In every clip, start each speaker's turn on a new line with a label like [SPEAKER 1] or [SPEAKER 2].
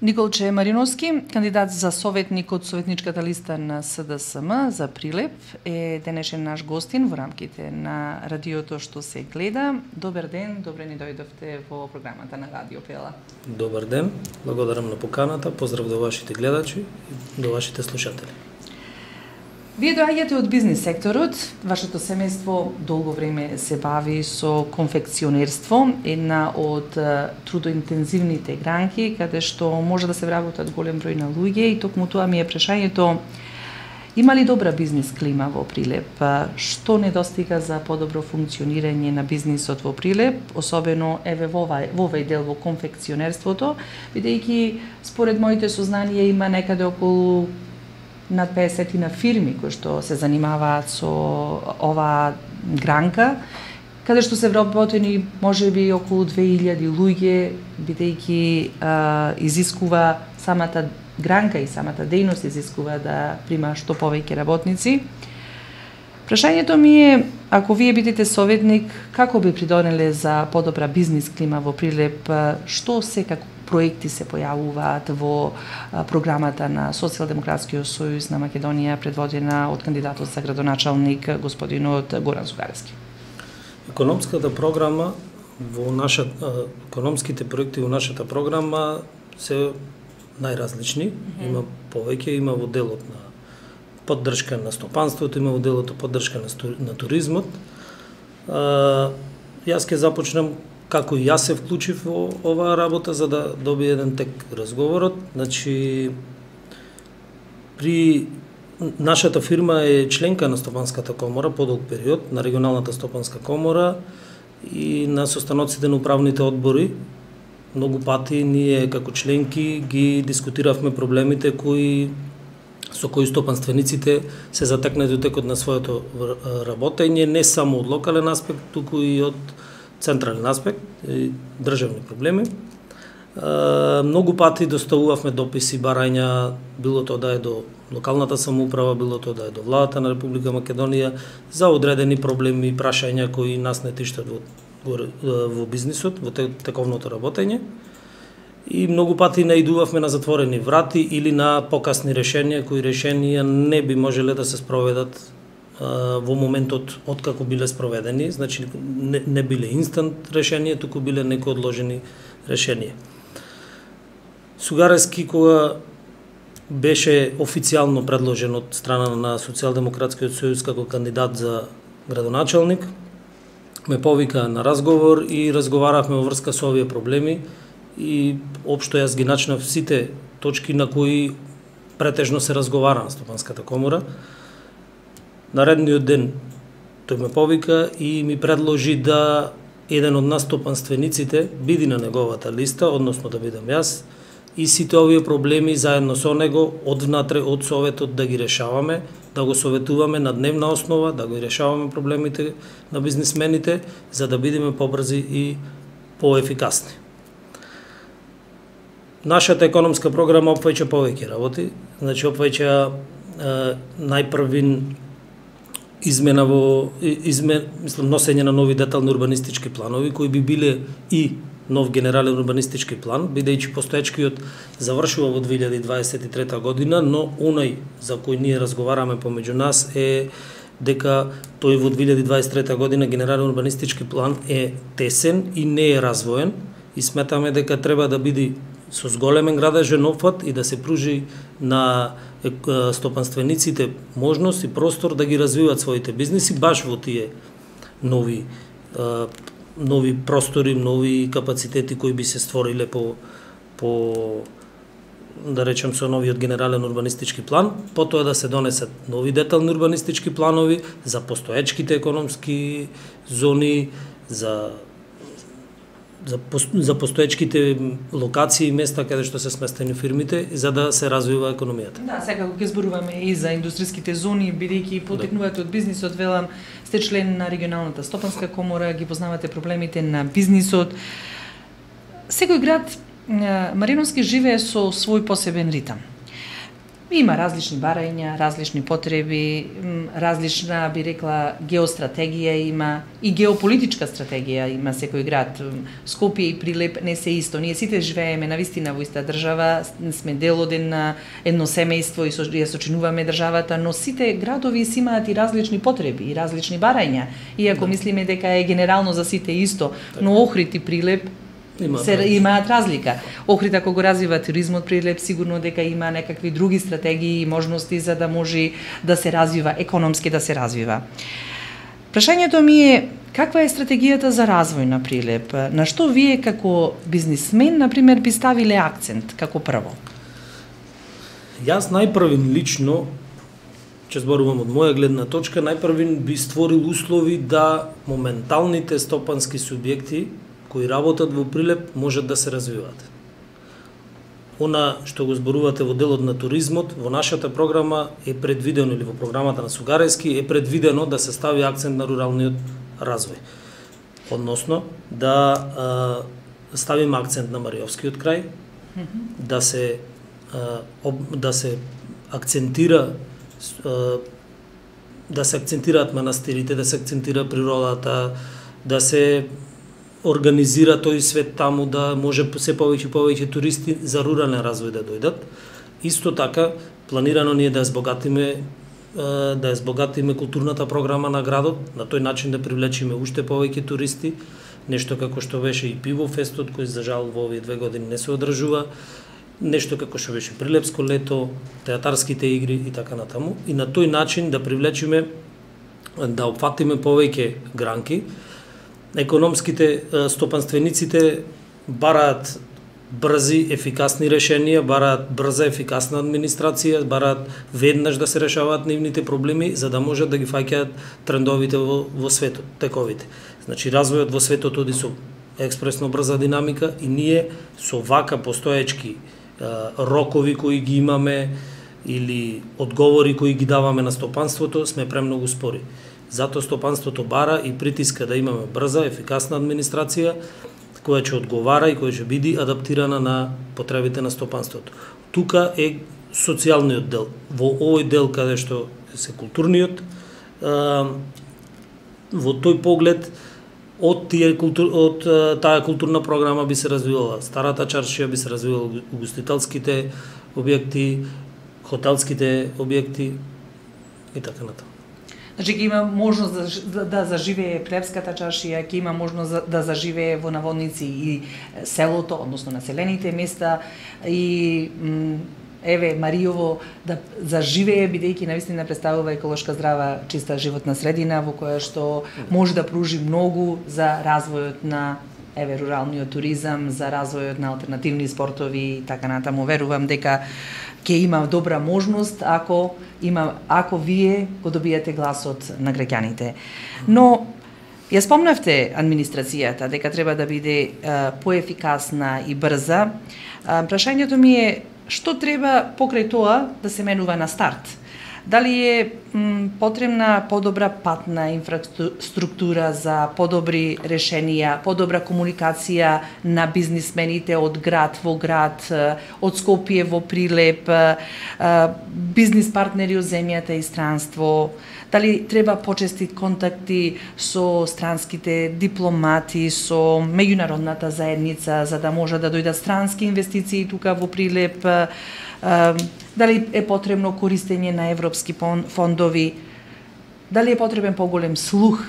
[SPEAKER 1] Николче Мариновски, кандидат за советник од советничката листа на СДСМ за Прилеп, е денешен наш гостин во рамките на радиото што се гледа. Добар ден, добре ни дојдовте во програмата на Радио Пела.
[SPEAKER 2] Добар ден, благодарам на поканата, поздрав до вашите гледачи и до вашите слушатели.
[SPEAKER 1] Вие доаѓате од бизнис секторот, вашето семејство долго време се бави со конфекционерство, една од трудоинтензивните гранки, каде што може да се вработат голем број на луѓе и токму тоа ми е прашањето: има ли добра бизнис клима во Прилеп? Што недостига за подобро функционирање на бизнисот во Прилеп, особено во овој дел во конфекционерството, бидејќи според моите сознанија има некаде околу над 50 на фирми кои што се занимаваат со оваа гранка, каде што се вработени можеби околу 2000 луѓе, бидејќи изискува самата гранка и самата дејност изискува да прима што повеќе работници. Прашањето ми е, ако вие бидете советник, како би придонеле за подобра бизнис клима во Прилеп, што секако проекти се појавуваат во програмата на Социјалдемократскиот сојуз на Македонија, предводена од кандидатот за градоначалник господинот Горан Зугаревски?
[SPEAKER 2] Економската програма економските проекти во нашата програма се најразлични. Има повеќе, има во делот на поддршка на стопанството, има во делот поддршка на туризмот. Јас ќе започнам како и јас се вклучив во оваа работа за да добие еден тек разговорот. Значи, нашата фирма е членка на Стопанската комора подолг период, на регионалната Стопанска комора и на состаноците на управните одбори. Многу пати ние како членки ги дискутиравме проблемите со кои стопанствениците се затекнати во текот на своето работење, не само од локален аспект, туку и од централен аспект, државни проблеми. Многу пати доставувавме дописи, барања, било тоа да е до локалната самоуправа, било тоа да е до владата на Република Македонија, за одредени проблеми и прашања кои нас не тиштат во бизнисот, во тековното работење. И многу пати наидувавме на затворени врати или на покасни решенија, кои решенија не би можеле да се спроведат во моментот откако биле спроведени, значи не биле инстант решенија, туку биле некои одложени решенија. Сугаревски, кога беше официјално предложен од страна на Социјалдемократскиот сојуз како кандидат за градоначалник, ме повика на разговор и разговаравме во врска со овие проблеми и општо јас ги начнав сите точки на кои претежно се разговара на Стопанската комора. Наредниот ден тој ме повика и ми предложи да еден од нас стопанствениците биде на неговата листа, односно да бидам јас, и сите овие проблеми заедно со него одвнатре од советот да ги решаваме, да го советуваме на дневна основа, да го решаваме проблемите на бизнисмените, за да бидеме побрзи и поефикасни. Нашата економска програма опфаќа повеќе работи, значи опфаќа најпрвин носење на нови детални урбанистички планови, кои би биле и нов генерален урбанистички план, бидејќи постоечкиот завршува во 2023 година, но онај за кој ние разговараме помеѓу нас е дека тој во 2023 година генерален урбанистички план е тесен и не е развоен и сметаме дека треба да биде со зголемен градежен опфат и да се пружи на стопанствениците можност и простор да ги развиваат своите бизниси баш во тие нови простори, нови капацитети кои би се створиле по да речем со новиот генерален урбанистички план, потоа да се донесат нови детални урбанистички планови за постоечките економски зони, за постоечките локации и места каде што се сместени фирмите, за да се развива економијата.
[SPEAKER 1] Да, секако ќе зборуваме и за индустријските зони, бидејќи потекнувате од бизнисот, велам, сте член на регионалната Стопанска комора, ги познавате проблемите на бизнисот. Секој град Мариновски живее со свој посебен ритам. Има различни барања, различни потреби, различна, би рекла, геостратегија има и геополитичка стратегија има секој град. Скопје и Прилеп не се исто. Ние сите живееме навистина во иста држава, сме дел од едно семејство и ја сочинуваме државата, но сите градови си имаат и различни потреби и различни барања. Иако мислиме дека е генерално за сите исто, но Охрид и Прилеп имаат разлика. Охрид, ако го развива туризмот, Прилеп сигурно дека има некакви други стратегии и можности за да може да се развива, економски да се развива. Прашањето ми е, каква е стратегијата за развој на Прилеп? На што вие како бизнисмен, например, би ставиле акцент како прво?
[SPEAKER 2] Јас најпрвин лично, че зборувам од моја гледна точка, најпрвин би створил услови да моменталните стопански субјекти кои работат во Прилеп можат да се развиваат. Она што го зборувате во делот на туризмот, во нашата програма е предвидено, или во програмата на Сугарејски е предвидено да се стави акцент на руралниот развој. Односно, да ставиме акцент на Мариовскиот крај, да се акцентираат манастирите, да се акцентира природата, да се организира тој свет таму, да може се повеќе и повеќе туристи за рурален развој да дојдат. Исто така, планирано ни е да ја збогатиме културната програма на градот, на тој начин да привлечиме уште повеќе туристи, нешто како што беше и Пивофестот, кој за жал во овие 2 години не се одржува, нешто како што беше Прилепско лето, театарските игри и така натаму, и на тој начин да привлечиме, да опфатиме повеќе гранки. Економските стопанствениците бараат брзи, ефикасни решенија, бараат брза, ефикасна администрација, бараат веднаш да се решаваат нивните проблеми, за да можат да ги фаќаат трендовите во светот, тековите. Значи, развојот во светот оди со експресно брза динамика и ние со вака постоечки рокови кои ги имаме или одговори кои ги даваме на стопанството, сме премногу спори. Зато стопанството бара и притиска да имаме брза, ефикасна администрација, која ќе одговара и која ќе биде адаптирана на потребите на стопанството. Тука е социјалниот дел. Во овој дел каде што се културниот, во тој поглед од таа културна програма би се развивала старата чаршија, би се развивала угостителските објекти, хотелските објекти и така натаму.
[SPEAKER 1] Значи, ќе има можност да заживее Прилепската чаршија, ќе има можност да заживее во наводници и селото, односно населените места, и Мариово да заживее, бидејќи навистина представува еколошка, здрава, чиста животна средина, во која што може да пружи многу за развојот на руралниот туризам, за развојот на алтернативни спортови и така натаму. Верувам дека ќе има добра можност ако вие го добиете гласот на граѓаните. Но ја спомнавте администрацијата дека треба да биде поефикасна и брза. Прашањето ми е што треба покрај тоа да се менува на старт? Дали е потребна подобра патна инфраструктура за подобри решенија, подобра комуникација на бизнисмените од град во град, од Скопје во Прилеп, бизнис партнери од земјата и странство? Дали треба почести контакти со странските дипломати, со меѓународната заедница, за да може да дојдат странски инвестиции тука во Прилеп? Дали е потребно користење на европски фондови? Дали е потребен поголем слух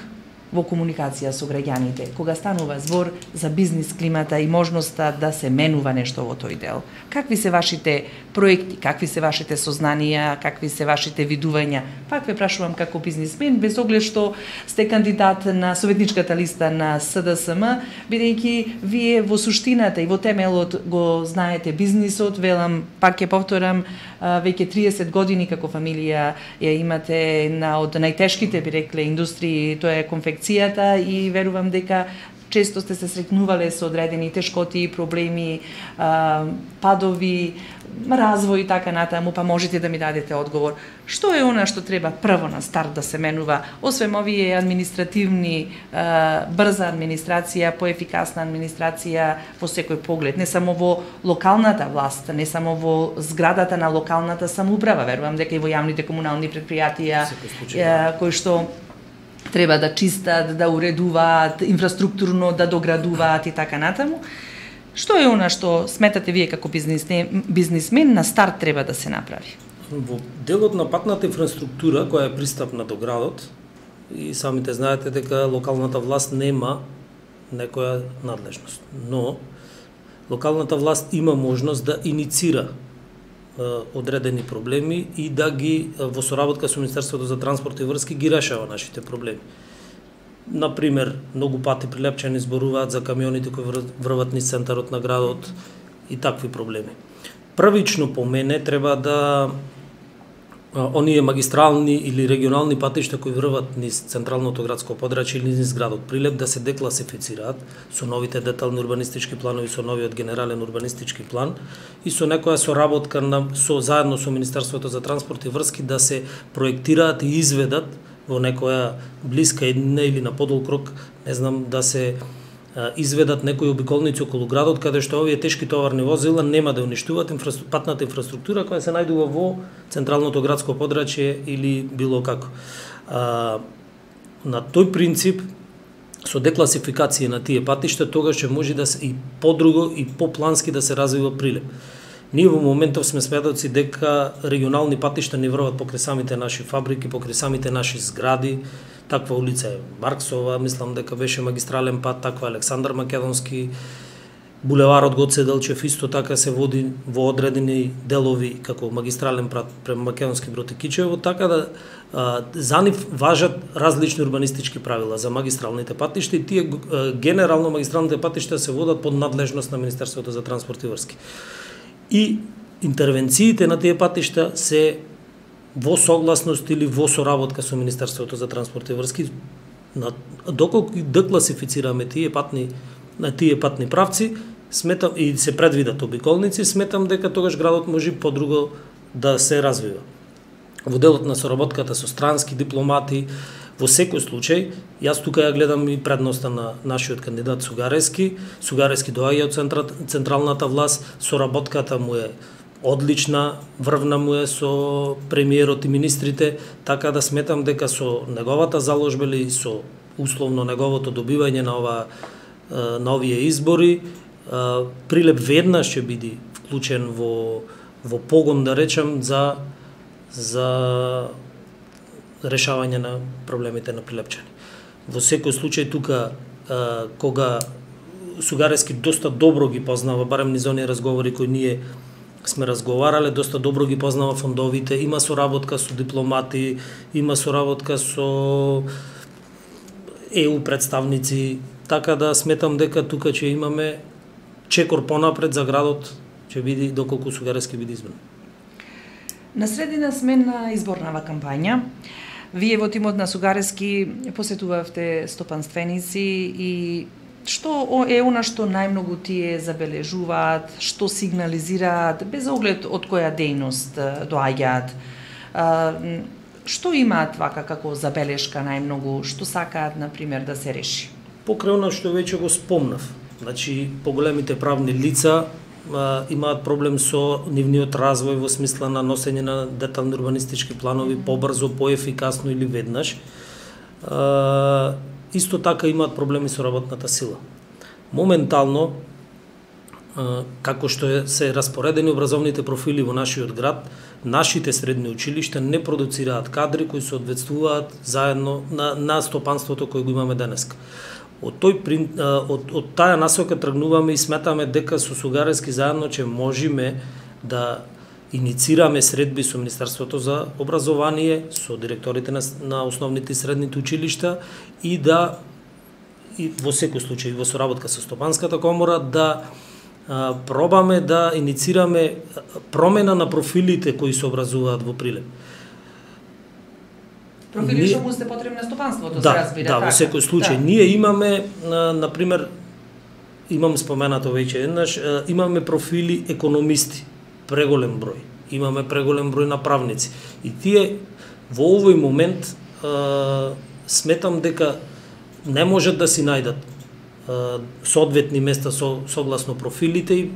[SPEAKER 1] во комуникација со граѓаните, кога станува збор за бизнис климата и можноста да се менува нешто во тој дел? Какви се вашите проекти, какви се вашите сознанија, какви се вашите видувања? Пак ве прашувам како бизнисмен, без оглед што сте кандидат на советничката листа на СДСМ, бидејќи вие во суштината и во темелот го знаете бизнисот, велам, пак ќе повторам, веќе 30 години како фамилија ја имате една од најтешките, би рекле, индустрии, тоа е конфекцијата, и верувам дека често сте се сретнувале со одредени тешкоти, проблеми, падови, развој и така натаму, па можете да ми дадете одговор. Што е она што треба прво на старт да се менува, освен овие административни, брза администрација, поефикасна администрација во секој поглед, не само во локалната власт, не само во зградата на локалната самоуправа, верувам дека и во јавните комунални предпријатија кои што треба да чистат, да уредуваат, инфраструктурно да доградуваат и така натаму. Што е она што сметате вие како бизнисмен на старт треба да се направи?
[SPEAKER 2] Во делот на патната инфраструктура која е пристапна до градот, и самите знаете дека локалната власт нема некоја надлежност, но локалната власт има можност да иницира одредени проблеми и да ги во соработка со Министерството за транспорт и врски ги решава нашите проблеми. Например, многу пати Прилепчани зборуваат за камионите кои врват низ центарот на градот и такви проблеми. Првично по мене треба да оние магистрални или регионални патишта кои врват низ централното градско подрачје или низ градот Прилеп да се декласифицираат со новите детални урбанистички планови, со новиот генерален урбанистички план и со некоја соработка заедно со Министерството за транспорт и врски да се проектираат и изведат во некоја блиска еднина или на подолг рок, не знам, да се изведат некои обиколници околу градот каде што овие тешки товарни возила нема да уништуваат патната инфраструктура која се најдува во централното градско подрачје или било како. На тој принцип, со декласификација на тие патишта, тогаш ќе може да се и подруго и поплански да се развива Прилеп. Ние во моментов сме сведоци дека регионални патишта ни врват покрај самите наши фабрики, покрај самите наши згради. Таква улица е Марксова, мислам дека беше магистрален пат, таква Александар Македонски, булеварот Гоце Делчев исто така се води во одредени делови како магистрален пат према Македонски Брод и Кичево, така да за нив важат различни урбанистички правила за магистралните патишта и тие генерално магистралните патишта се водат под надлежност на Министерството за транспорт и врски. И интервенциите на тие патишта се во согласност или во соработка со Министерството за транспорт и врски, доколку декласифицираме тие патни правци, сметам и се предвидат обиколници, сметам дека тогаш градот може подруго да се развива. Во делот на соработката со странски дипломати, во секој случај, јас тука ја гледам и предноста на нашиот кандидат Сугарески. Сугарески доаѓа од централната власт, соработката му е одлична, врвна му е со премиерот и министрите, така да сметам дека со неговата заложба или со условно неговото добивање на овие избори, Прилеп веднаш ќе биде вклучен во погон, да речем, за решавање на проблемите на прилепчани. Во секој случај тука, кога Сугарески доста добро ги познава, барем низ оние разговори кои ние сме разговарале, доста добро ги познава фондовите, има соработка со дипломати, има соработка со ЕУ представници, така да сметам дека тука ќе имаме чекор понапред за градот, ќе биде доколку Сугарески биде избран.
[SPEAKER 1] На средина сме на изборнава кампања. Вие во тимот на Сугарески посетувавте стопанственици и што е она што најмногу тие забележуваат, што сигнализираат, без оглед од која дејност доаѓаат? Што имаат вака како забелешка најмногу, што сакаат, например, да се реши?
[SPEAKER 2] Покрај она што веќе го спомнав, значи поголемите правни лица имаат проблем со нивниот развој во смисла на носење на детални урбанистички планови побрзо, поефикасно или веднаш. Исто така имаат проблеми со работната сила. Моментално, како што се распоредени образовните профили во нашиот град, нашите средни училишта не продуцираат кадри кои соодветствуваат заедно на стопанството кој го имаме денеска. Од таа насока тргнуваме и сметаме дека со Сугарески заедно ќе можеме да иницираме средби со Министерството за образование, со директорите на основните и средните училишта и во секој случај во соработка со Стопанската комора да пробаме да иницираме промена на профилите кои се образуваат во Прилеп.
[SPEAKER 1] профили што му сте потребни на стопанството, се разбира.
[SPEAKER 2] Да, во секој случај. Ние имаме, на пример, имам споменато веќе еднаш, имаме профили економисти, преголем број. Имаме преголем број на правници. И тие во овој момент сметам дека не можат да си најдат соодветни места согласно профилите и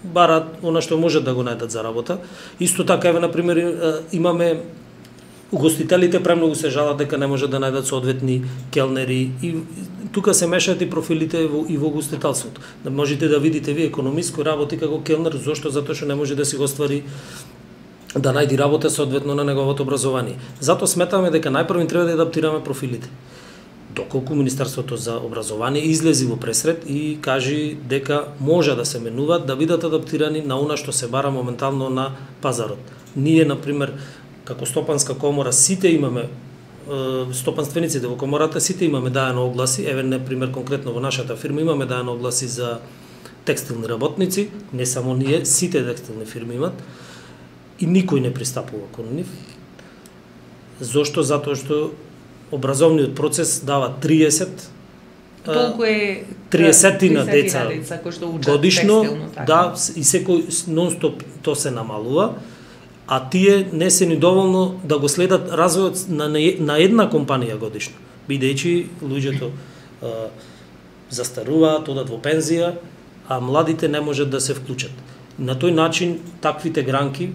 [SPEAKER 2] барат она што можат да го најдат за работа. Исто така, еве, на пример, имаме угостителите премногу се жалат дека не можат да најдат соодветни келнери и тука се мешаат и профилите и во угостителството. Да можете да видите ви економист кој работи како келнер, зошто? Затоа што не може да си го ствари да најди работа соодветно на неговото образование. Затоа сметаме дека најпрво треба да адаптираме профилите. Доколку Министерството за образование излези во пресред и кажи дека може да се менуваат, да бидат адаптирани на она што се бара моментално на пазарот. Ние, на пример, како Стопанска комора, сите имаме, стопанствениците во комората, сите имаме даено огласи, еве, на пример, конкретно во нашата фирма имаме даено огласи за текстилни работници, не само ние, сите текстилни фирми имат, и никој не пристапува кон нив. Зошто? Затоа што образовниот процес дава 30
[SPEAKER 1] толку е
[SPEAKER 2] 30 деца
[SPEAKER 1] кои што учат
[SPEAKER 2] годишно,
[SPEAKER 1] текстилно, така.
[SPEAKER 2] да, и секој нон-стоп то се намалува, а тие не се ни доволно да го следат развојот на една компанија годишно, бидејќи луѓето застаруваат, одат во пензија, а младите не можат да се вклучат. На тој начин таквите гранки,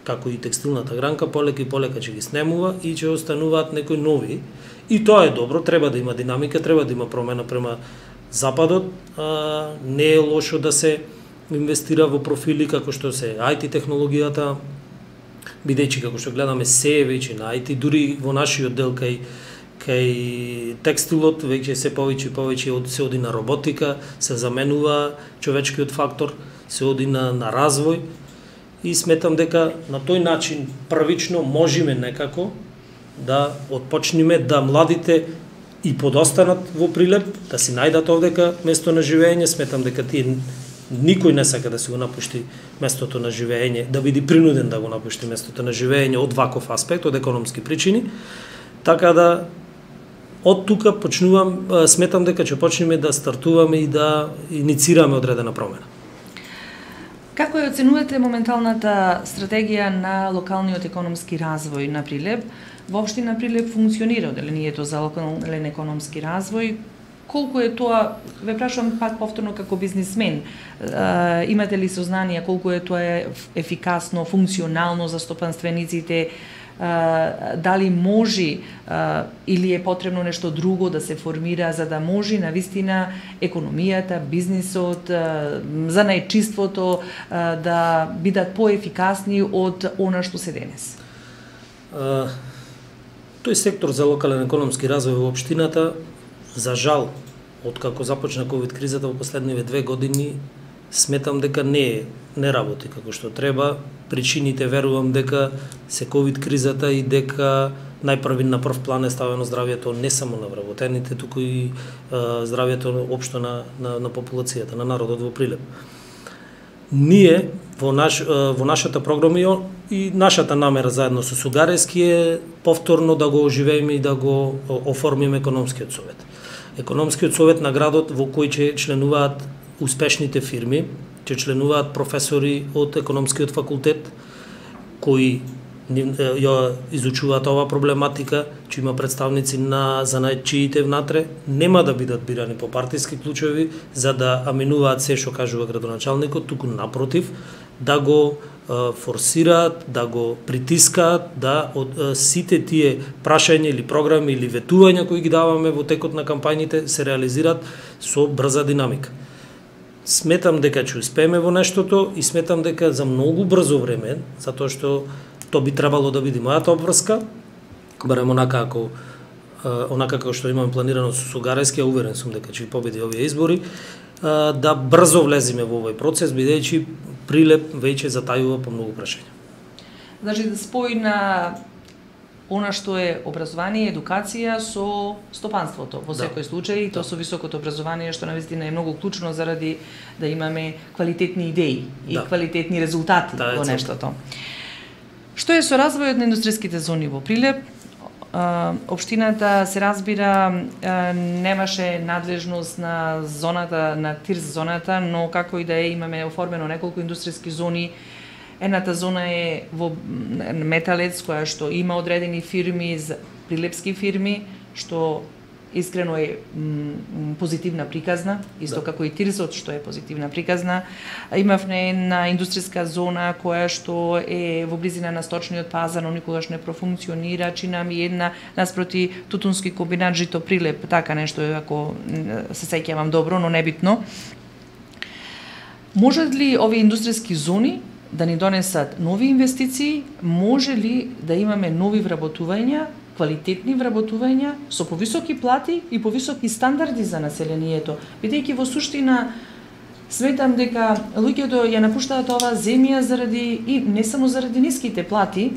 [SPEAKER 2] како и текстилната гранка, полека и полека ќе ги снемува и ќе остануваат некои нови. И тоа е добро, треба да има динамика, треба да има промена према западот. Не е лошо да се инвестира во профили како што се IT технологијата, бидејќи како што гледаме се е веќе на IT, дури во нашиот дел кај текстилот веќе се повеќе и повеќе се оди на роботика, се заменува човечкиот фактор, се оди на развој. И сметам дека на тој начин првично можеме некако да отпочнеме да младите и подостанат во Прилеп, да си најдат овдека место на живење. Сметам дека тие никој не сака да си го напушти местото на живење, да биде принуден да го напушти местото на живење од ваков аспект, од економски причини. Така да од тука почнувам, сметам дека ќе почнеме да стартуваме и да иницираме одредена промена.
[SPEAKER 1] Како ја оценувате моменталната стратегија на локалниот економски развој на Прилеп? Воопштина Прилеп функционира одделението за локален економски развој. Колку е тоа, ве прашувам пак повторно како бизнисмен, имате ли сознание колку е тоа ефикасно, функционално за стопанствениците? Дали може или е потребно нешто друго да се формира за да може навистина економијата, бизнисот, занаетчиството да бидат поефикасни од она што се денес?
[SPEAKER 2] Тој сектор за локален економски развој во општината, за жал, откако започна ковид кризата во последниве 2 години, сметам дека не работи како што треба. Причините верувам дека се ковид кризата и дека најпрви на прв план е ставено здравјето не само на вработените, туку и здравјето општо на популацијата, на народот во Прилеп. Ние во нашата програма и нашата намера заедно со Сугарески е повторно да го оживееме и да го оформиме економскиот совет. Економскиот совет на градот во кој ќе членуваат успешните фирми, ќе членуваат професори од економскиот факултет кои ја изучуваат оваа проблематика, ќе има представници на занаетчиите внатре, нема да бидат бирани по партиски клучеви за да аминуваат се што кажува градоначалникот, туку напротив, да го форсираат, да го притискаат, да од сите тие прашања или програми или ветувања кои ги даваме во текот на кампањите се реализираат со брза динамика. Сметам дека ќе успееме во нештото и сметам дека за многу брзо време, затоа што то би требало да биде мојата обврска, барем онака како што имаме планирано со Сугарески, уверен сум дека ќе победи овие избори, да брзо влеземе во овој процес, бидејќи Прилеп веќе затајува по многу прашања.
[SPEAKER 1] Значи да спои на она што е образование и едукација со стопанството во секој случај, и то со високото образование што навистина е многу клучно заради да имаме квалитетни идеи и квалитетни резултати во нештото. Што е со развојот на индустријските зони во Прилеп? општината се разбира немаше надлежност на зоната, на ТИРС зоната, но како и да е, имаме оформено неколку индустријски зони. Едната зона е во Металец, која што има одредени фирми, прилепски фирми, што искрено е позитивна приказна, исто како и ТИРСот што е позитивна приказна. Имавме една индустријска зона која што е во близина на сточниот пазар, но никогаш не профункционира, чина ми една наспроти тутунски комбинат Жито Прилеп, така нешто е, ако се сеќавам добро, но небитно. Можат ли овие индустријски зони да ни донесат нови инвестиции? Може ли да имаме нови вработувања, квалитетни вработувања со повисоки плати и повисоки стандарди за населението? Бидејќи во суштина сметам дека луѓето ја напуштаат оваа земја заради, и не само заради ниските плати,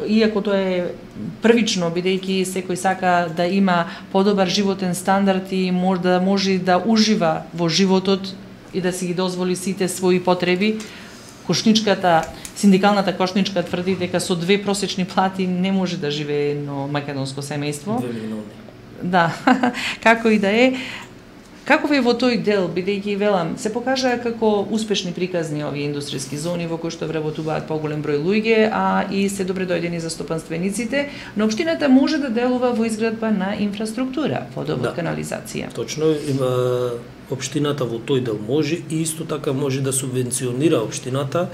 [SPEAKER 1] иако тоа е првично, бидејќи секој сака да има подобар животен стандард и може да ужива во животот и да си ги дозволи сите своји потреби. Синдикалната кошничка тврди дека со 2 просечни плати не може да живее едно македонско семејство.
[SPEAKER 2] 2 милиони.
[SPEAKER 1] Да, како и да е. Каков е во тој дел, бидејќи велам, се покажа како успешни приказни овие индустријски зони во кои што вработуваат поголем број луѓе, а и се добре дојдени за стопанствениците, но општината може да делува во изградба на инфраструктура, водовод, канализација.
[SPEAKER 2] Точно, има општината во тој дел може и исто така може да субвенционира општината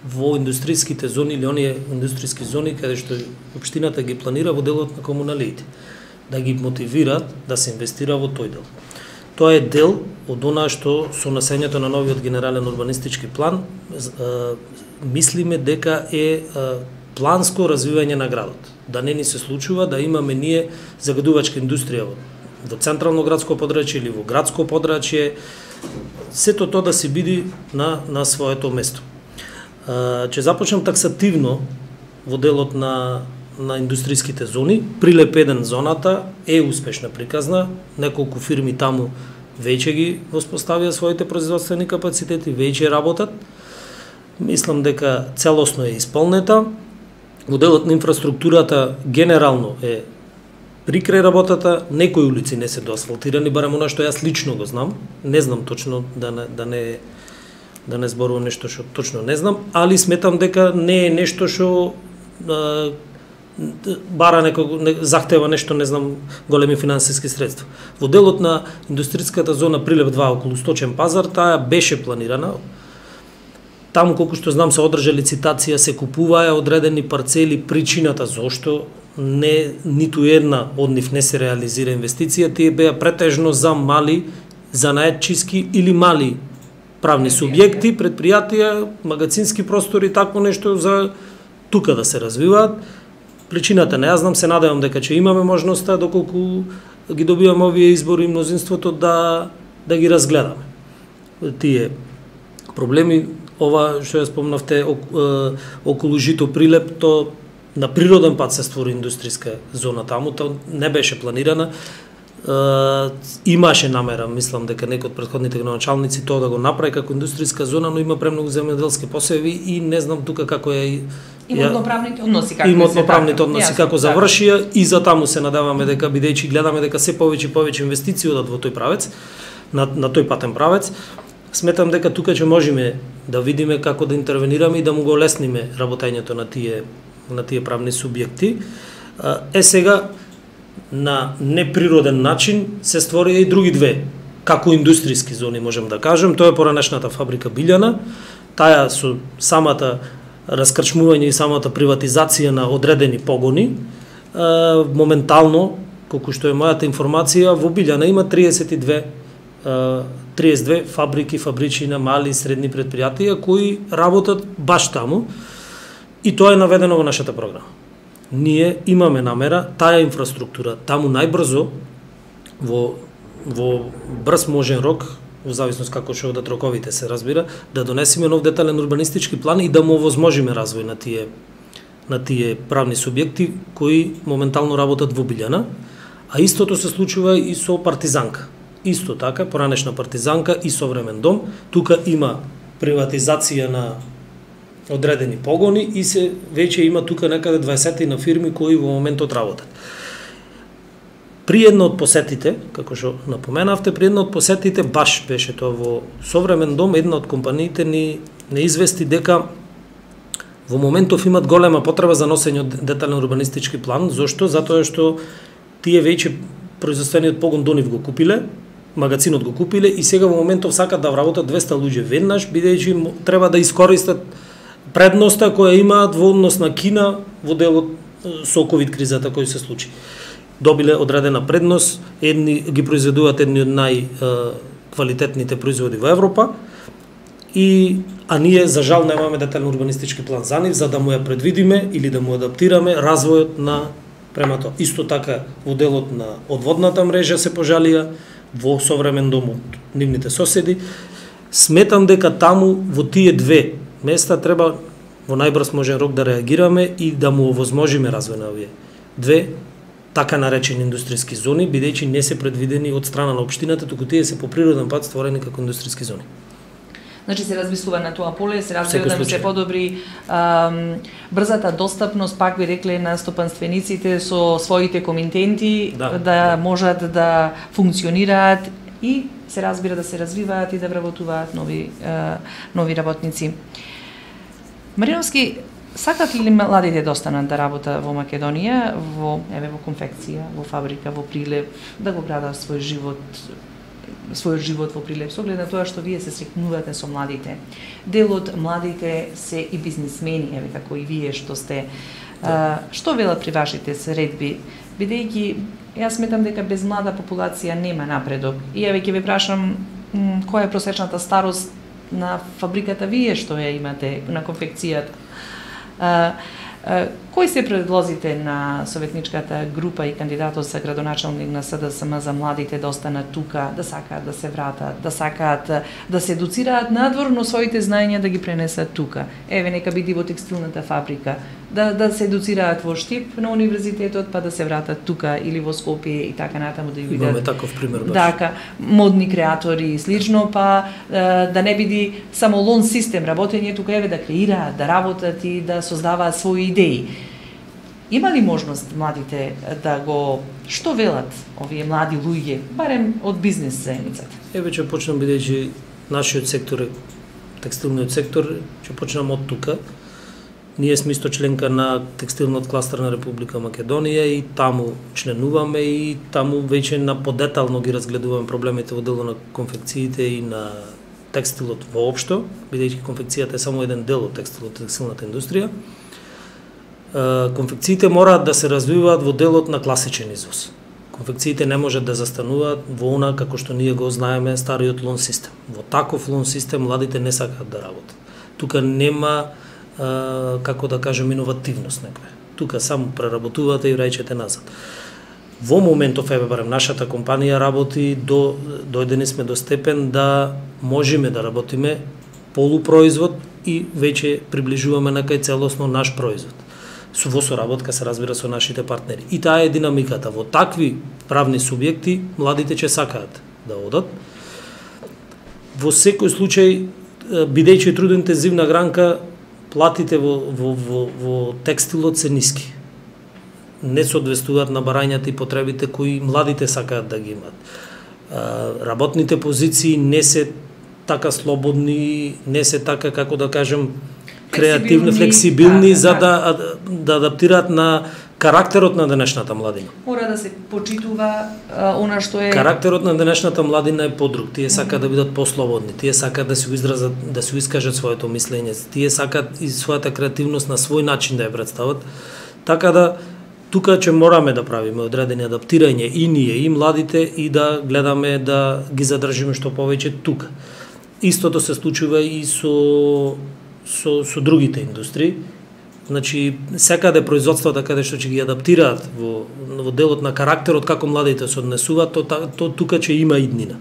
[SPEAKER 2] во индустријските зони или оние индустријски зони каде што општината ги планира во делот на комуналиите, да ги мотивира да се инвестира во тој дел. Тоа е дел од она што со насењето на новиот генерален урбанистички план мислиме дека е планско развивање на градот. Да не ни се случува да имаме ние загадувачка индустрија во централно градско подрачје или во градско подрачје, сето тоа да се биде на своето место. Ќе започнам таксативно во делот на индустријските зони. Прилеп 1 зоната е успешна приказна, неколку фирми таму веќе ги воспоставија своите производствени капацитети, веќе работат. Мислам дека целосно е исполнета. Во делот на инфраструктурата генерално е при крај работата, некои улици не се доасфалтирани, барем она што јас лично го знам. Не знам точно, да не зборувам нешто што точно не знам, али сметам дека не е нешто што захтева нешто, не знам, големи финансиски средства. Во делот на индустријската зона Прилеп 2 околу Сточен пазар, таа беше планирана. Таму, колку што знам, се одржа лицитација, се купуваа одредени парцели. Причината зошто ниту една од нив не се реализира инвестиција, тие беа претежно за мали занаетчиски или мали правни субјекти, предпријатија, магазински простори, такво нешто за тука да се развиваат. Причината не ја знам, се надевам дека ќе имаме можноста, доколку ги добиваме овие избори и мнозинството, да ги разгледаме. Тие проблеми, ова што ја спомнавте околу Жито Прилеп, то на природен пат се створи индустријска зона таму, то не беше планирана. Имаше намера, мислам дека некој од претходните градоначалници тоа да го направи како индустријска зона, но има премногу земјоделски посеви и не знам тука како е
[SPEAKER 1] имотно-правните односи
[SPEAKER 2] како завршија, и за таму се надеваме дека, бидејќи гледаме дека се повеќе и повеќе инвестиции одат во тој правец, на тој патен правец, сметам дека тука ќе можеме да видиме како да интервенираме и да му го олесниме работењето на тие правни субјекти. Сега на неприроден начин се створија и други две, како индустријски зони, можем да кажем. Тоа е поранешната фабрика Билјана, таа со самата раскрчмување и самата приватизација на одредени погони. Моментално, колку што е мојата информација, во Билјана има 32 фабрики, фабричина, мали и средни предпријатија кои работат баш таму, и тоа е наведено во нашата програма. Ние имаме намера таа инфраструктура таму најбрзо, во брз можен рок, во зависност како што одат роковите, се разбира, да донесеме нов детален урбанистички план и да му овозможиме развој на тие правни субјекти кои моментално работат во Билјана, а истото се случува и со Партизанка. Исто така, поранешна Партизанка и современ дом, тука има приватизација на одредени погони и се веќе има тука некаде 20 на фирми кои во моментот работат. При една од посетите, како што напоменавте, при една од посетите баш беше тоа во Современ дом, една од компаниите ни не извести дека во моментов имат голема потреба за носење од детален урбанистички план. Зошто? Затоа што тие веќе производствениот погон до нив го купиле, магазинот го купиле и сега во моментов сакат да вработат 200 луѓе веднаш, бидејќи треба да искористат предноста која имаат во однос на Кина во делот со ковид кризата кој се случи. Добиле одредена предност, едни ги произведуваат едни од најквалитетните производи во Европа, а ние за жал немаме детален урбанистички план за нив, за да му ја предвидиме или да му адаптираме развојот на према тоа. Исто така во делот на одводната мрежа се пожалија во Современ дом од нивните соседи. Сметам дека таму во тие две места треба во најбрз можен рок да реагираме и да му овозможиме развој на овие две така наречени индустријски зони, бидејќи не се предвидени од страна на општината, туку тие се по природен пат створени како индустријски зони.
[SPEAKER 1] Значи се размислува на тоа поле, се разбира да се подобри брзата достапност, пак би рекле, на стопанствениците со своите комитенти, да можат да функционираат и се разбира да се развиваат и да вработуваат нови работници. Мариновски, сакат ли младите да останат да работат во Македонија, во конфекција, во фабрика, во прилеп, да го градат својот живот во прилеп, со оглед на тоа што вие се срекнувате со младите. Дел од младите се и бизнисмени, како и вие што сте. Што велат при вашите средби? Бидејќи, јас сметам дека без млада популација нема напредок. И ќе ве прашам, која е просечната старост на фабриката вие што ја имате, на конфекцијата? Кои се предлозите на советничката група и кандидатот за градоначалник на СДСМ за младите да останат тука, да сакаат да се вратат, да сакаат да се едуцираат надвор, но своите знаења да ги пренесат тука? Нека биде во текстилната фабрика, да се едуцираат во Штип на универзитетот, па да се вратат тука или во Скопје и така натаму да ја видат.
[SPEAKER 2] Имаме таков пример баш.
[SPEAKER 1] Така, модни креатори и слично, па да не биде само лон систем работење тука, да креираат, да работат и да создаваат своји идеи. Има ли можност младите да го... Што велат овие млади луѓе, барем од бизнес заедницата?
[SPEAKER 2] Ќе почнам, бидејќи нашиот сектор е текстилниот сектор, ќе почнам од тука. Ние сме исто членка на текстилниот кластер на Република Македонија и таму членуваме и таму веќе на подетално ги разгледуваме проблемите во дело на конфекциите и на текстилот воопшто, бидејќи конфекцијата е само еден дел од текстилната индустрија. Конфекциите мораат да се развиваат во делот на класичен извоз. Конфекциите не можат да застануваат во она како што ние го знаеме стариот лон систем. Во таков лон систем младите не сакаат да работат. Тука нема како да кажем иновативност некоја. Тука само преработувате и враќате назад. Во моментов барем нашата компанија работи дојдени сме до степен да можеме да работиме полупроизвод и веќе приближуваме на кај целосно наш производ. Во соработка се разбира со нашите партнери. И таа е динамиката. Во такви правни субјекти младите ќе сакаат да одат. Во секој случај, бидејќи трудоинтензивна гранка, платите во текстилот се ниски. Не соодветствуваат на барањата и потребите кои младите сакаат да ги имат. Работните позиции не се така слободни, не се така, како да кажем, креативни, флексибилни, за да адаптираат на карактерот на денешната младина.
[SPEAKER 1] Мора да се почитува она што е...
[SPEAKER 2] Карактерот на денешната младина е подруг. Тие сакаат да бидат послободни, тие сакаат да се изразат, да се искажат своето мислење, тие сакаат и својата креативност на свој начин да ја представат. Така да тука ќе мораме да правиме одредени адаптирање и ние и младите и да гледаме да ги задржиме што повеќе тука. Истото се случува и со другите индустрии. Значи, секаде производствата каде што ќе ги адаптираат во делот на карактерот како младите се однесуваат, то тука ќе има иднина.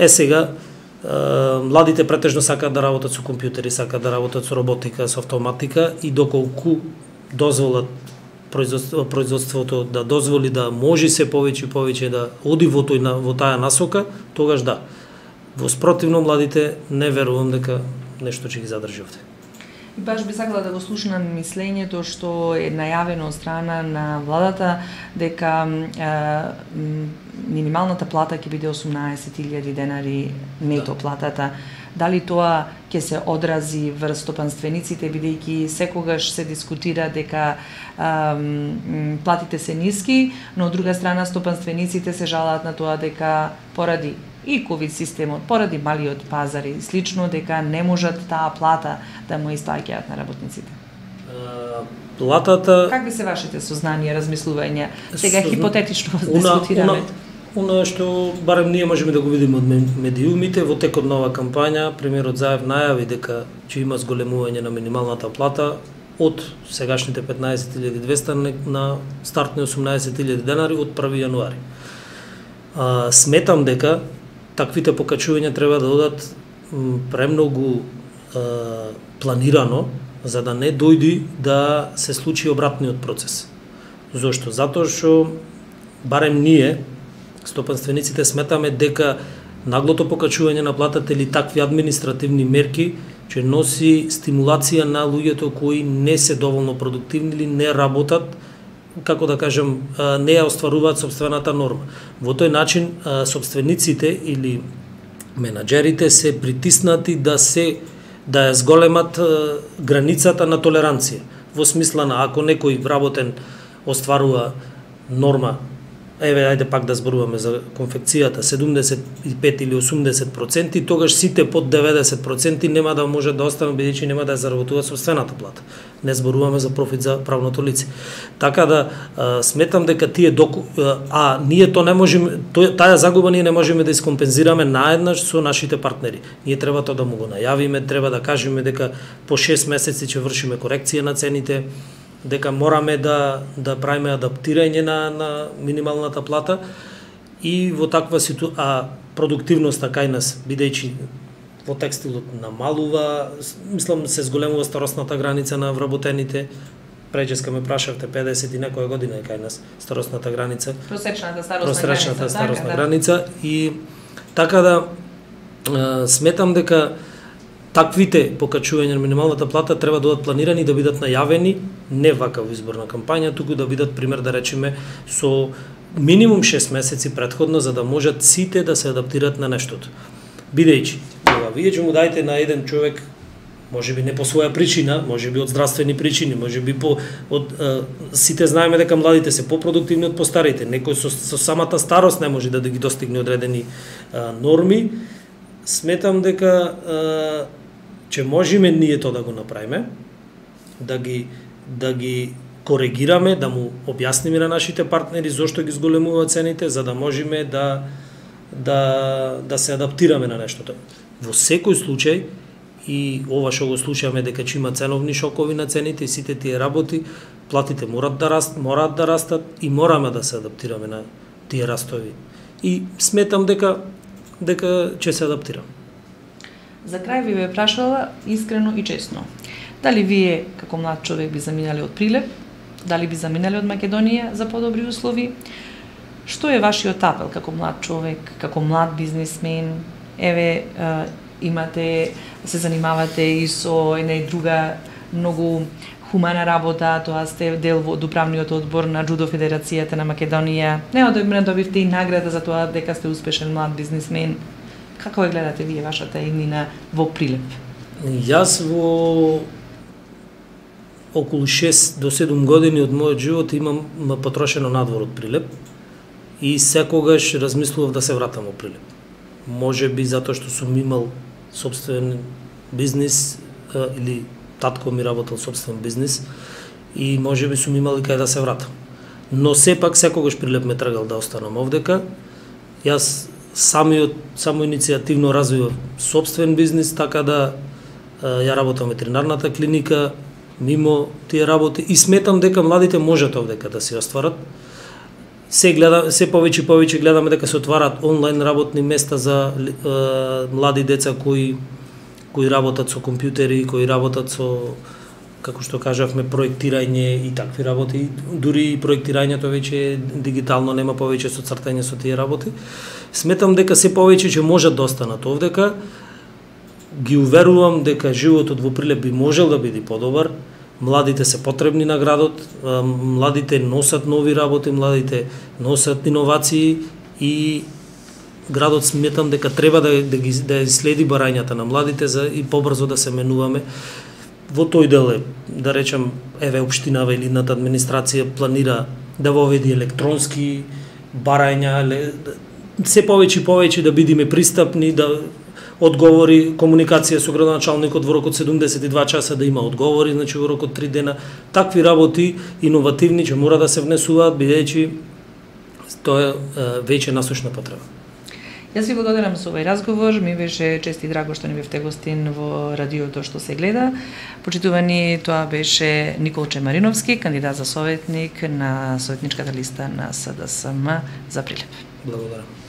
[SPEAKER 2] Сега, младите претежно сакаат да работат со компјутери, сакаат да работат со роботика, со автоматика и доколку дозволат производството да дозволи да може се повеќе и повеќе да оди во таа насока, тогаш да. Во спротивно младите не верувам дека нешто ќе ги задржи овде.
[SPEAKER 1] И баш би сакала да го слушнам мислењето што е најавено од страна на владата дека минималната плата ќе биде 18.000 денари нето платата. Дали тоа ќе се одрази врз стопанствениците, бидејќи секогаш се дискутира дека платите се ниски, но од друга страна стопанствениците се жалаат на тоа дека поради и ковид системот, поради малиот пазар и слично, дека не можат таа плата да му исплаќаат на работниците.
[SPEAKER 2] Платата...
[SPEAKER 1] Какви се вашите сознанија, размислувања? Сега хипотетично дискутираме.
[SPEAKER 2] Она што барем ние можеме да го видиме од медиумите, во текот на оваа кампања, премиерот Заев најави дека ќе има зголемување на минималната плата од сегашните 15.200 на стартни 18.000 денари од 1 јануари. Сметам дека таквите покачувања треба да одат премногу планирано, за да не дојди да се случи обратниот процес. Зошто? Затоа што барем ние стопанствениците сметаме дека наглото покачување на платата или такви административни мерки ќе носи стимулација на луѓето кои не се доволно продуктивни или не работат, како да кажем, не ја остваруваат сопствената норма. Во тој начин сопствениците или менаџерите се притиснати да ја зголемат границата на толеранција. Во смисла на ако некој вработен остварува норма, еве ајде пак да зборуваме за конфекцијата 75 или 80%, тогаш сите под 90% нема да може да останат бидејќи нема да ја заработуваат сопствената плата. Не зборуваме за профит за правното лице. Така да сметам дека ние то не можеме, таа загуба ние не можеме да искомпензираме наеднаш со нашите партнери. Ние треба тоа да му го најавиме, треба да кажеме дека по 6 месеци ќе вршиме корекција на цените, дека мораме да правиме адаптирање на минималната плата и во таква ситуација продуктивноста кај нас, бидејќи во текстилот намалува, мислам се зголемува старосната граница на вработените. Преđеска ме прашавте 50 и некоја година е кај нас старосната граница.
[SPEAKER 1] Просечната старосна
[SPEAKER 2] граница и така да сметам дека таквите покачувања на минималната плата треба да бидат планирани, да бидат најавени, не вака во изборна кампања, туку да бидат, пример да речеме, со минимум 6 месеци претходно, за да можат сите да се адаптираат на нештото. Бидејќи, вие ќе му дајте на еден човек, можеби не по своја причина, можеби од здравствени причини, можеби сите знаеме дека младите се попродуктивни од постарите, некој со самата старост не може да ги достигне одредени норми. Сметам дека ќе можеме ние тоа да го направиме, да ги коригираме, да му објасниме на нашите партнери зошто ги зголемуваат цените, за да можеме да се адаптираме на нештото. Во секој случај, и ова што го слушаме дека ќе има ценовни шокови на цените и сите тие работи, платите мораат да растат и мораме да се адаптираме на тие растови. И сметам дека ќе се адаптирам.
[SPEAKER 1] За крај ви бе прашала искрено и честно. Дали вие како млад човек би заминали од Прилеп? Дали би заминали од Македонија за подобри услови? Што е вашиот апел како млад човек, како млад бизнисмен? Еве се занимавате и со една и друга многу хумана работа, тоа сте дел од управниот одбор на Џудо Федерацијата на Македонија. Неодамна добивте и награда за тоа дека сте успешен млад бизнисмен. Како ја гледате вие вашата иднина во Прилеп?
[SPEAKER 2] Јас во околу 6 до 7 години од мојот живот имам потрошено надвор од Прилеп и секогаш размислував да се вратам во Прилеп. Може би затоа што сум имал собствен бизнис или татко ми работел собствен бизнис и може би сум имал и кај да се вратам. Но сепак секогаш Прилеп ме тргал да останам овдека. Јас само иницијативно развивав собствен бизнис, така да ја работам ветеринарната клиника, мимо тие работи и сметам дека младите можат овдека да се остварат. Се повеќе гледаме дека се отварат онлайн работни места за млади деца кои работат со компјутери, кои работат со, како што кажавме, проектирање и такви работи. Дури и проектирањето веќе е дигитално, нема повеќе со цртање со тие работи. Сметам дека се повеќе ќе можат да останат овдека ги уверувам дека животот во Прилеп би можел да биде подобар. Младите се потребни на градот, младите носат нови работи, младите носат иновации и градот сметам дека треба да следи барањата на младите за и побрзо да се менуваме. Во тој дел е, да речем, еве општинава или едната администрација планира да воведи електронски барања, се повеќе и повеќе да бидеме пристапни, да одговори, комуникација со градоначалникот во рокот 72 часа да има одговори, значи во рокот 3 дена. Такви работи иновативни ќе мора да се внесуваат, бидејќи тоа е веќе насушна потреба.
[SPEAKER 1] Јас ви благодарам за овој разговор, ми беше чест и драго што ни бевте гостин во радиото што се гледа. Почитувани, тоа беше Николче Мариновски, кандидат за советник на советничката листа на СДСМ за Прилеп.
[SPEAKER 2] Благодарам.